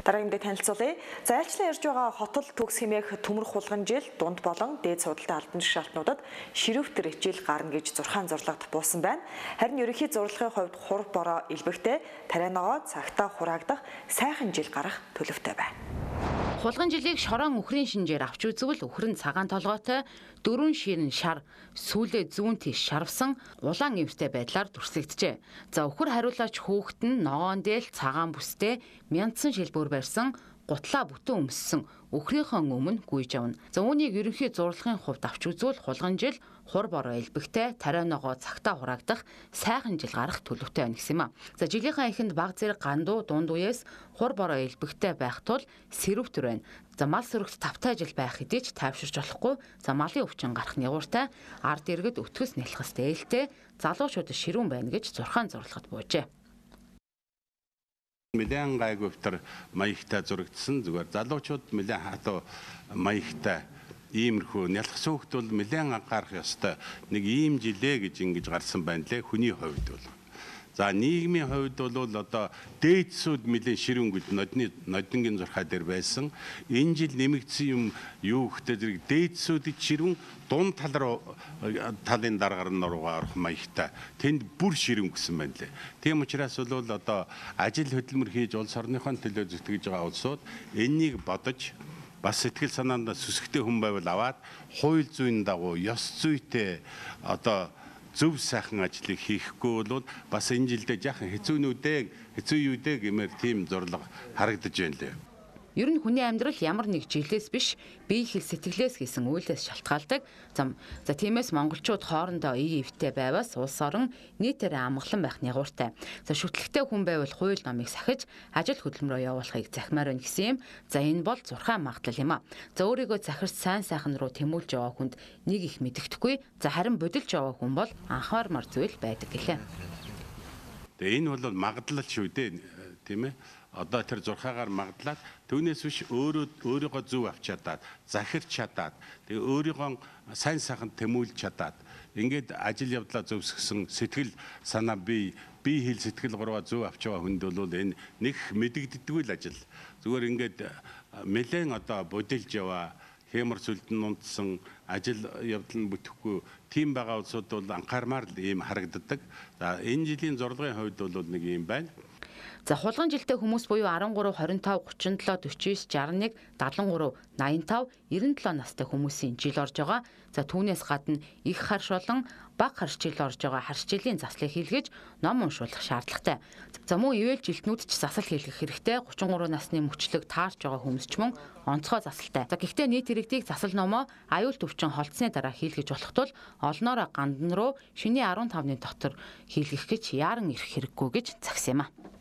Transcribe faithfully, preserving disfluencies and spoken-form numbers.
Дараагийн мэдээ танилцуулъя. За айлчлан ярьж байгаа хотол төгс хэмээх төмөр хулган жил дунд болон дээд судалтай албан шалтнуудад ширүүвтер жил гарна гэж зурхаан зурлагт буусан байна. Харин ерөнхий зурлагын хувьд хур бороо илбэгтэй тарианогоо цагтаа хураагдах сайхан жил гарах төлөвтэй байна. Хулган жилийг шорон үхрийн шинжээр авч үзвэл үхрэн цагаан толгойтой дөрвөн ширэн шар сүүлээ зүүн тийш шарвсан улаан эвстэй байдлаар дүрслэгджээ. За үхэр хариулаач хүүхэд нь ногоон дээл цагаан бүстэй мяндсан шилбүр барьсан гутлаа бүтэн өмссөн үхрийнхөө өмнө гүйж авна. За үүнийг ерөнхий зурлагын хувьд авч үзвэл хулган жил хур бороо илбэгтэй тарианогоо цагтаа хураагдах сайхан жил гарах төлөвтэй байна гэсэн юм а. За жилийнхаа эхэнд баг зэрэг гандуу дунд үеэс хур бороо илбэгтэй байх тул сэрүүвтер байна. За мал сөрөгт тавтай жил байх хэдий ч тайвширч болохгүй. За малын өвчин гарах нягууртай ард иргэд өтгөс нялхас дээлтэй залуучууд ширүүн байна гэж зурхаан зурлагт буужээ. Нэлээд гайгүй маягтай зурагдсан зүгээр залуучууд нэлээд хатуу маягтай иймэрхүү нялхас хөөхт бол нэлээд анхаарах ёстой нэг ийм жилээ гэж ингэж гарсан байна лээ хүний хувьд бол. За нийгмийн хувьд бол одоо дээдсүүд нэлээд ширүүнгүүд нодны нодингийн зурхаа дээр байсан. Энэ жил нэмэгдсэн юм юу гэхтэй зэрэг дээдсүүдэд ширүүн дунд тал руу талын даргаар руугаа орох маягтай тэнд бүр ширүүн гэсэн байна лээ. Тийм учраас бол одоо ажил хөдөлмөр хийж улс орныхон төлөө зүтгэж байгаа улсууд энэнийг бодож бас сэтгэл санаанд сүсгтэй хүн байвал аваад хууль зүйн дагуу ёс зүйтэй одоо зөв сайхан ажлыг хийхгүй бол бас энэ жилдээ яахан хэцүүнүүдээ хэцүү юу дээ гэмээр тийм зурлага харагдаж байна лээ. Ер нь хүний амьдрал ямар нэг жилээс биш бие хэл сэтгэлээс хийсэн үйлээс шалтгаалдаг. За тиймээс монголчууд хоорондоо ие эвтэй байваас улс орон нийтээрээ амгалан байх нягууртай. За шүтлэгтэй хүн байвал хууль номыг сахиж ажил хөдөлмөрөө явуулахыг захимаар байна гэсэн юм. За энэ бол зурхаан магадлал юм а. За өөрийгөө захирч сайн сайхан руу тэмүүлж яваа хүнд нэг их мэддэхгүй. За харин бодилж яваа хүн бол анхаармар зүйл байдаг гэлээ. Тэгээ энэ бол магадлал шүү дээ, тийм ээ. Одоо тэр зурхаагаар магадлаад түүнээс биш өөрөө өөрийгөө зөв авч чадаад захирч чадаад тэгээ өөрийгөө сайн сайхан тэмүүлж чадаад ингээд ажил явдлаа зөвсгсөн сэтгэл санаа бие бие хэл сэтгэл гурваа зөв авч байгаа хүнд бол энэ нэг мэдэгддэггүй л ажил. Зүгээр ингээд нэлээд одоо бодилж яваа хэмэр сүлдэн унтсан ажил явдал нь бүтэхгүй тийм байгаа улсууд бол анхаармаар л ийм харагддаг. За энэ жилийн зурлагын хувьд бол нэг юм байна. За хулган жилтэй хүмүүс буюу арван гурав, хорин тав, гучин долоо, дөрвөн девять, шестдесят нэг, седемдесет три, найман тав, девяносто семь настай хүмүүсийн жил орж байгаа. За түүнээс гадна их харш болон бага харш жил орж байгаа харш жилийн заслыг хийлгэж ном уншуулах шаардлагатай. За мөн ивэл жилтнүүд ч засал хийлгэх хэрэгтэй. гучин гурав насны мөчлөг таарч байгаа хүмүүс ч мөн онцгой засалтай. За гэхдээ нийт иргэдийг засал номоо аюул төвчин холцсны дараа хийлгэж болох тул олноороо гандан руу шөнийн арван тавны дотор хийлгэх гэж яаран ирэх хэрэггүй гэж загсан юм а.